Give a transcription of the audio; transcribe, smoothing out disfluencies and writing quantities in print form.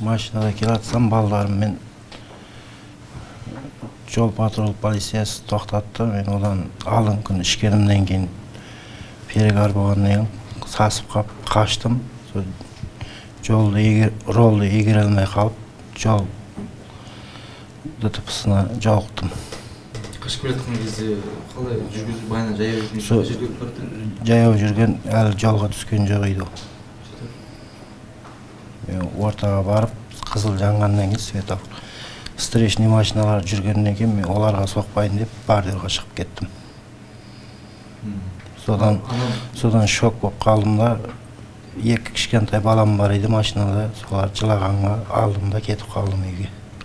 Машинада келатсам, балдарым мен жол патрул полициясы токтотtu. Мен одан алдыңкы күн ишкенимден кийин перегар болгондон кийин сасып калып качтым. Ролду ийгере алмай калып, жол ДТПсына жолуктум. Качып келаткан кезде калай жүргүзүп баягы жаяу жүргөн? Жаяу жүргөн, али жолго түскөн жок үйдү. Ортага барып, кызыл жангандан кийин светофор встречный машиналар жүргөндөн кийин мен оларга сокпайын деп бордюрга чыгып кеттим. Содан шок болуп калдым да, эки кичкентай балам бар эди машинада, солар жылаганга алдым да кетип калдым үйгө.